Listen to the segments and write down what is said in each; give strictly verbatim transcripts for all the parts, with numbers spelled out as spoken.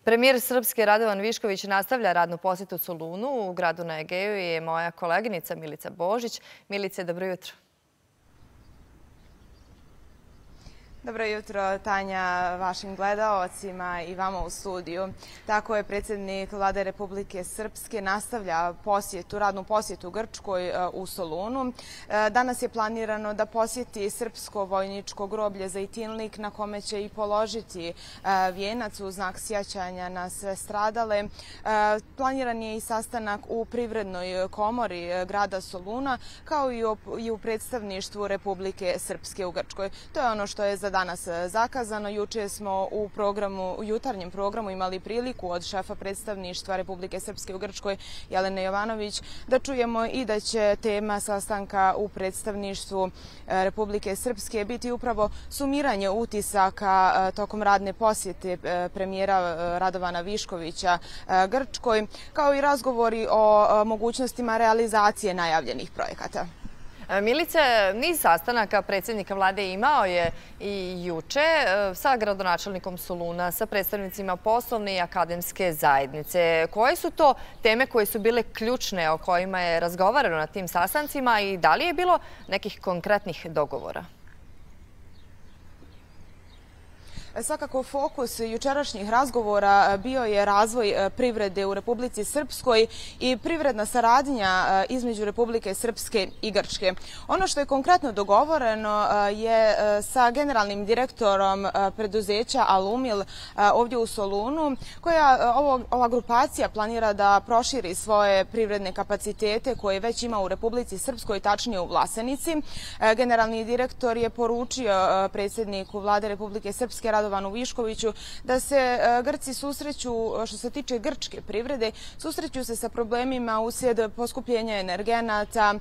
Premijer Srpske Radovan Višković nastavlja radnu posjetu Solunu. U gradu na Egeju je moja koleginica Milica Božić. Milice, dobro jutro. Dobro jutro, Tanja, vašim gledaocima i vama u studiju. Tako je predsjednik Vlade Republike Srpske nastavlja posjetu, radnu posjetu Grčkoj u Solunu. Danas je planirano da posjeti srpsko vojničko groblje Zejtinlik, na kome će i položiti vijenac u znak sjećanja na sve stradale. Planiran je i sastanak u Privrednoj komori grada Soluna, kao i u predstavništvu Republike Srpske u Grčkoj. To je ono što je za danas zakazano. Juče smo u programu, u jutarnjem programu imali priliku od šefa predstavništva Republike Srpske u Grčkoj, Jelene Jovanović, da čujemo i da će tema sastanka u predstavništvu Republike Srpske biti upravo sumiranje utisaka tokom radne posjete premijera Radovana Viškovića Grčkoj, kao i razgovori o mogućnostima realizacije najavljenih projekata. Milice, niz sastanaka predsjednika vlade imao je i juče sa gradonačelnikom Soluna, sa predstavnicima poslovne i akademske zajednice. Koje su to teme koje su bile ključne, o kojima je razgovarano na tim sastancima i da li je bilo nekih konkretnih dogovora? Svakako fokus jučerašnjih razgovora bio je razvoj privrede u Republici Srpskoj i privredna saradnja između Republike Srpske i Grčke. Ono što je konkretno dogovoreno je sa generalnim direktorom preduzeća Alumil ovdje u Solunu, koja ova grupacija planira da proširi svoje privredne kapacitete koje već ima u Republici Srpskoj, tačnije u Vlasenici. Generalni direktor je poručio predsjedniku Vlade Republike Srpske Radovanu Viškoviću da se Grci susreću, što se tiče grčke privrede, susreću se sa problemima uslijed poskupljenja energenata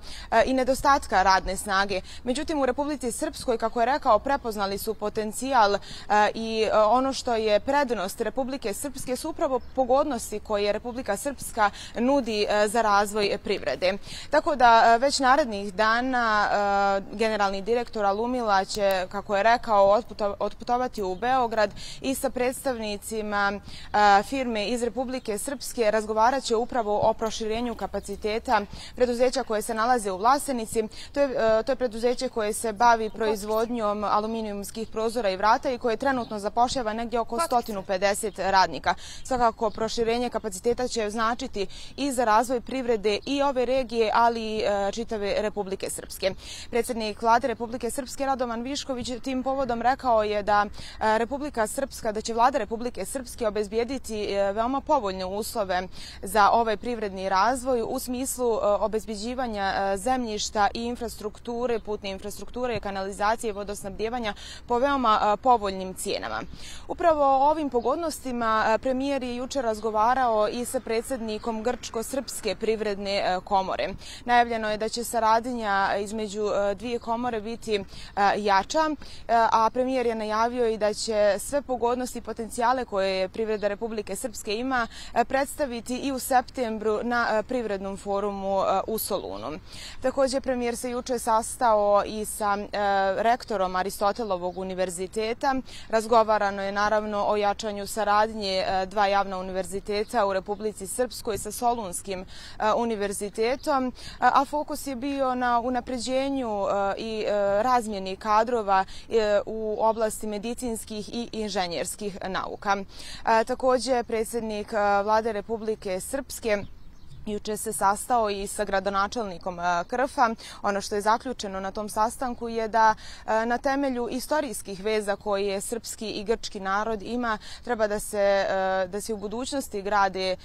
i nedostatka radne snage. Međutim, u Republici Srpskoj, kako je rekao, prepoznali su potencijal i ono što je prednost Republike Srpske su upravo pogodnosti koje Republika Srpska nudi za razvoj privrede. Tako da već narednih dana generalni direktor Alumila će, kako je rekao, otputovati u Beograd i sa predstavnicima firme iz Republike Srpske razgovarat će upravo o proširenju kapaciteta preduzeća koje se nalaze u Vlasenici. To je, to je preduzeće koje se bavi proizvodnjom aluminijumskih prozora i vrata i koje trenutno zapošljava negdje oko sto pedeset radnika. Svakako, proširenje kapaciteta će značiti i za razvoj privrede i ove regije, ali i čitave Republike Srpske. Predsjednik Vlade Republike Srpske Radovan Višković tim povodom rekao je da Republika Srpska, da će Vlada Republike Srpske obezbijediti veoma povoljne uslove za ovaj privredni razvoj u smislu obezbeđivanja zemljišta i infrastrukture, putne infrastrukture, kanalizacije i vodosnabdijevanja po veoma povoljnim cijenama. Upravo o ovim pogodnostima premijer je juče razgovarao i sa predsjednikom Grčko-Srpske privredne komore. Najavljeno je da će saradnja između dvije komore biti jača, a premijer je najavio i da će sve pogodnosti i potencijale koje privreda Republike Srpske ima predstaviti i u septembru na privrednom forumu u Solunu. Također, premijer se juče sastao i sa rektorom Aristotelovog univerziteta. Razgovarano je naravno o jačanju saradnje dva javna univerziteta u Republici Srpskoj sa Solunskim univerzitetom, a fokus je bio na unapređenju i razmjeni kadrova u oblasti medicinskih i inženjerskih nauka. Također, predsjednik Vlade Republike Srpske juče se sastao i sa gradonačelnikom Krfa. Ono što je zaključeno na tom sastanku je da na temelju istorijskih veza koje srpski i grčki narod ima treba da se, da se u budućnosti grade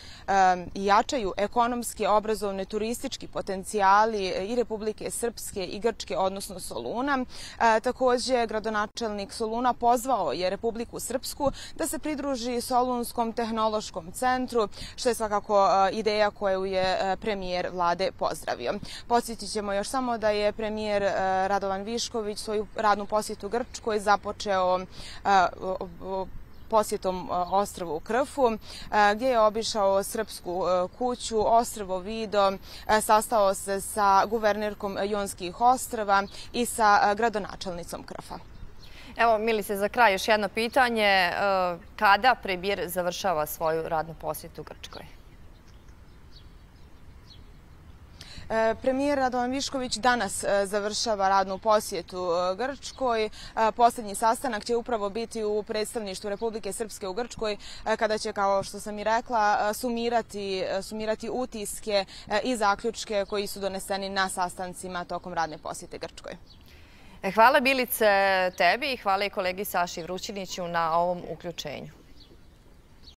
i jačaju ekonomski, obrazovni, turistički potencijali i Republike Srpske i Grčke, odnosno Soluna. Također, gradonačelnik Soluna pozvao je Republiku Srpsku da se pridruži Solunskom tehnološkom centru, što je svakako ideja koju je je premijer vlade pozdravio. Podsjetit ćemo još samo da je premijer Radovan Višković svoju radnu posjetu Grčkoj započeo posjetom ostrvu Krfu, gdje je obišao Srpsku kuću, ostrvo Vido, sastao se sa guvernerkom Jonskih ostrva i sa gradonačelnicom Krfa. Evo, Milice, za kraj još jedno pitanje. Kada premijer završava svoju radnu posjetu u Grčkoj? Premijer Radovan Višković danas završava radnu posjetu Grčkoj. Posljednji sastanak će upravo biti u predstavništvu Republike Srpske u Grčkoj, kada će, kao što sam i rekla, sumirati, sumirati utiske i zaključke koji su doneseni na sastancima tokom radne posjete Grčkoj. Hvala, Bilice, tebi i hvala i kolegi Saši Vrućiniću na ovom uključenju.